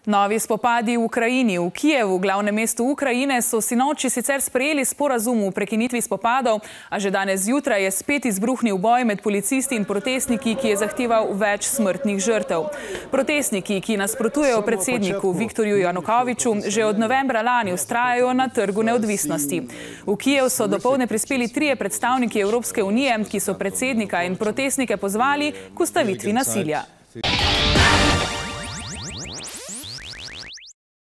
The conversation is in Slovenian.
Novi spopadi v Ukrajini. V Kijevu, glavnem mestu Ukrajine, so sinoči sicer sprejeli sporazum o prekinitvi spopadov, a že danes zjutraj je spet izbruhnil boj med policisti in protestniki, ki je zahteval več smrtnih žrtev. Protestniki, ki nasprotujejo predsedniku Viktorju Janukoviču, že od novembra lani vztrajajo na Trgu neodvisnosti. V Kijev so dopoldne prispeli 3 predstavniki Evropske unije, ki so predsednika in protestnike pozvali k ustavitvi nasilja.